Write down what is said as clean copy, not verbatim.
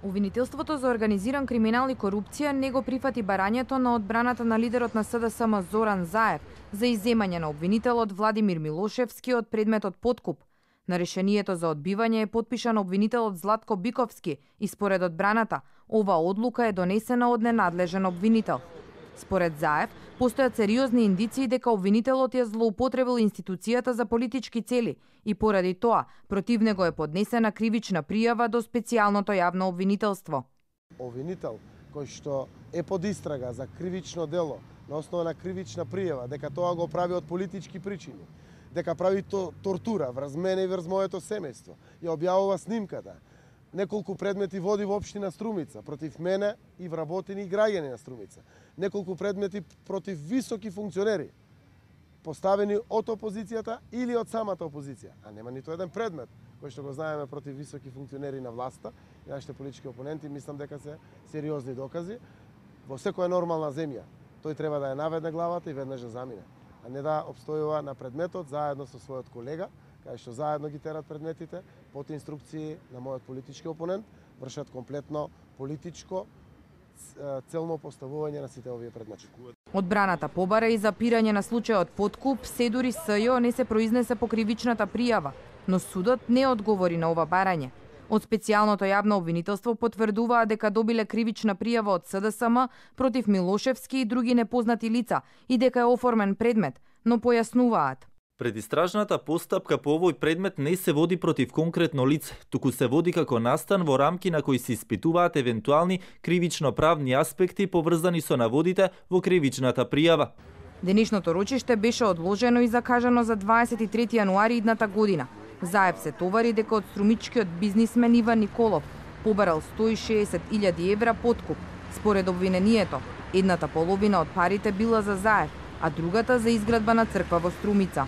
Обвинителството за организиран криминал и корупција не го прифати барањето на одбраната на лидерот на СДСМ Зоран Заев за изземање на обвинителот Владимир Милошевски од предметот подкуп. На решението за одбивање е потпишан обвинителот Златко Биковски и според одбраната, ова одлука е донесена од ненадлежен обвинител. Според Заев, постојат сериозни индиции дека обвинителот ја злоупотребил институцијата за политички цели и поради тоа против него е поднесена кривична пријава до специјалното јавно обвинителство. Обвинител кој што е под истрага за кривично дело на основа на кривична пријава, дека тоа го прави од политички причини, дека прави тортура врз мене и врз моето семејство, ја објавува снимката. Неколку предмети води во општина Струмица против мене и вработени и граѓани на Струмица. Неколку предмети против високи функционери, поставени од опозицијата или од самата опозиција. А нема ниту еден предмет кој што го знаеме против високи функционери на власта и нашите политички опоненти. Мислам дека се сериозни докази. Во секоја нормална земја тој треба да ја наведне главата и веднаш да замине, а не да обстојува на предметот заедно со својот колега, кај што заедно ги терат предметите, под инструкции на мојот политички опонент, вршат комплетно политичко целно поставување на сите овие предмети. Одбраната побара и запирање на случајот подкуп, се дури СЈО не се произнесе по кривичната пријава, но судот не одговори на ова барање. Од специјалното јавно обвинителство потврдуваа дека добиле кривична пријава од СДСМ против Милошевски и други непознати лица и дека е оформен предмет, но појаснуваат. Предистражната постапка по овој предмет не се води против конкретно лице, туку се води како настан во рамки на кои се испитуваат евентуални кривично-правни аспекти поврзани со наводите во кривичната пријава. Денешното рочиште беше одложено и закажано за 23 јануари идната година. Заев се товари дека од струмичкиот бизнисмен Иван Николов побарал 160.000 евра подкуп. Според обвинението, едната половина од парите била за Заев, а другата за изградба на црква во Струмица.